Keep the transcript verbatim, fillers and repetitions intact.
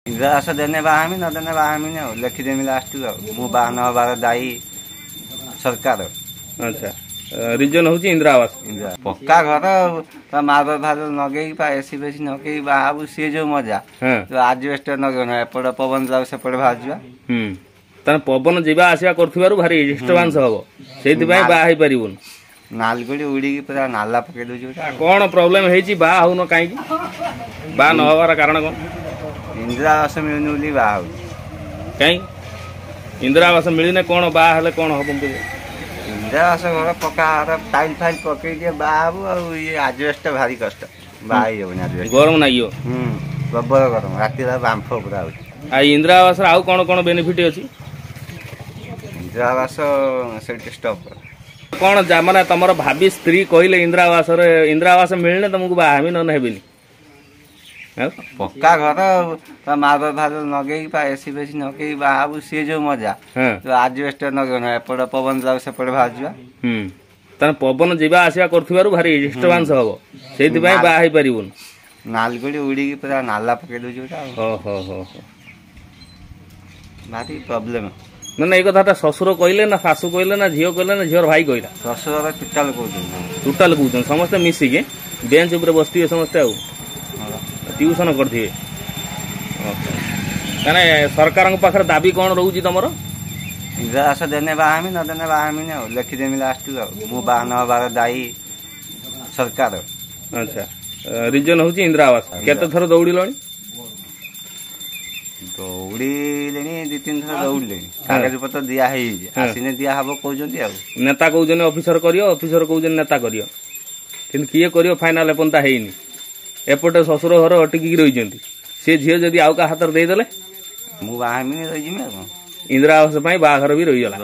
ଇନ୍ଦିରା ଆବାସ ଦେନେ ବାହା ହେମି, ନଦେନେ ବାହା ହେମିନି। ଆଉ ଲେଖିଦେମି ଲାଷ୍ଟକୁ, ଆଉ ମୁଁ ବାହା ନ ହେବାର ଦାୟୀ ସରକାର। ଆଚ୍ଛା, ରିଜନ ହଉଛି ଇନ୍ଦିରା ଆବାସ। ଇନ୍ଦିରା ପକ୍କା ଘର ମାର୍ବଲ ଫାର୍ବଲ ଲଗେଇକି ପା ଏସି ଫେସି ଲଗେଇକି ବାହା ହବୁ, ସିଏ ଯୋଉ ମଜା। ଆଜବେଷ୍ଟ ଲଗେଇବ, ଏପଟେ ପବନ ଯାଉ ସେପଟେ ବାହାରିଯିବା। ହୁଁ, ତାହେଲେ ପବନ ଯିବା ଆସିବା କରୁଥିବାରୁ ଭାରି ଡିଷ୍ଟର୍ବାନ୍ସ ହବ, ସେଇଥିପାଇଁ ବାହା ହେଇପାରିବୁନି। ନାଲଗୁଡ଼ି ଉଡ଼ିକି ପୁରା ନାଲା ପକେଇ ଦଉଛି। କଣ ପ୍ରୋବ୍ଲେମ ହେଇଛି? ବାହା ହଉନ କାହିଁକି? ବାହା ନ ହବାର କାରଣ କଣ? ଇନ୍ଦିରା ଆବାସ ମିଳୁନି ବୋଲି ବାହା ହଉଛି। କାହିଁ ଇନ୍ଦିରା ଆବାସ ମିଳିନେ କଣ, ବାହା ହେଲେ କଣ ହବ? ଇନ୍ଦିରା ଆବାସ ଘର ପକ୍କା ଘର ଟାଇଲ ଫାଇଲ ପକେଇ ଦିଏ, ବାହା ହବୁ। ଆଉ ଇଏ ଆଜବେଷ୍ଟ ଭାରି କଷ୍ଟ, ବାହା ହେଇହବନି। ଆଜବେଷ୍ଟ ଗରମ ଲାଗିବ। ହୁଁ, ପ୍ରବଳ ଗରମ, ରାତିରେ ବାମ୍ଫ ପୁରା ହଉଛି। ଆଉ ଇନ୍ଦିରା ଆବାସର ଆଉ କଣ କଣ ବେନିଫିଟ ଅଛି? ଇନ୍ଦିରା ଆବାସ ସେଇଠି ଷ୍ଟପ୍। କଣ ମାନେ ତମର ଭାବି ସ୍ତ୍ରୀ କହିଲେ ଇନ୍ଦିରା ଆବାସରେ, ଇନ୍ଦିରା ଆବାସ ମିଳିଲେ ତମକୁ ବାହା ହେବି, ନହେଲେ ହେବିନି? ପକ୍କା ଘର ମାର୍ବଲ ଫାର୍ବଲ ଲଗେଇକି ପା ଏସି ଫେସି ଲଗେଇକି ବାହା ହବୁ, ସିଏ ଯୋଉ ମଜା। ଆଜବେଷ୍ଟ ଲଗେଇବ, ଏପଟେ ପବନ ଯାଉ ସେପଟେ ବାହାରିଯିବା। ହୁଁ, ତାହେଲେ ପବନ ଯିବା ଆସିବା କରୁଥିବାରୁ ଭାରି ଡିଷ୍ଟର୍ବାନ୍ସ ହବ, ସେଇଥିପାଇଁ ବାହା ହେଇପାରିବୁନି। ନାଲଗୁଡ଼ି ଉଡ଼ିକି ପୁରା ନାଲା ପକେଇ ଦଉଛି। ହୋ ହୋ ହୋ, ଭାରି ପ୍ରୋବ୍ଲେମ। ନା ନା, ଏଇ କଥାଟା ଶ୍ୱଶୁର କହିଲେ ନା ଶାଶୁ କହିଲେ ନା ଝିଅ କହିଲେ ନା ଝିଅର ଭାଇ କହିଲା? ଶ୍ୱଶୁର ଟୋଟାଲ କହୁଛନ୍ତି। ଟୋଟାଲ କହୁଛନ୍ତି, ସମସ୍ତେ ମିଶିକି ବେଞ୍ଚ ଉପରେ ବସିଥିବେ ସମସ୍ତେ, ଆଉ ଟ୍ୟୁସନ କରିଥିବେ। ମାନେ ସରକାରଙ୍କ ପାଖରେ ଦାବି କଣ ରହୁଛି ତମର? ଇନ୍ଦିରା ଆବାସ ଦେନେ ବାହା ହେମି, ନଦେନେ ବାହା ହେମିନି। ଆଉ ଲେଖିଦେମି ଲାଷ୍ଟକୁ, ଆଉ ମୁଁ ବାହା ନ ହେବାର ଦାୟୀ ସରକାର। ଆଚ୍ଛା, ରିଜନ ହଉଛି ଇନ୍ଦିରା ଆବାସ। କେତେ ଥର ଦୌଡ଼ିଲଣି? ଦୌଡ଼ିଲେଣି, ଦି ତିନି ଥର ଦୌଡ଼ିଲେଣି। କାଗଜ ପତ୍ର ଦିଆ ହେଇଯାଇଛି, ଆସିନେ ଦିଆ ହବ କହୁଛନ୍ତି। ଆଉ ନେତା କହୁଛନ୍ତି ଅଫିସର କରିବ, ଅଫିସର କହୁଛନ୍ତି ନେତା କରିବ, କିନ୍ତୁ କିଏ କରିବ ଫାଇନାଲ ଏପର୍ଯ୍ୟନ୍ତ ହେଇନି। ଏପଟେ ଶ୍ୱଶୁର ଘର ଅଟକିକି ରହିଛନ୍ତି, ସେ ଝିଅ ଯଦି ଆଉ କାହା ହାତରେ ଦେଇଦେଲେ ମୁଁ ବାହା ହେମିନି, ରହିଯିବି। ଆଉ ଇନ୍ଦିରା ଆବାସ ପାଇଁ ବାହାଘର ବି ରହିଗଲା।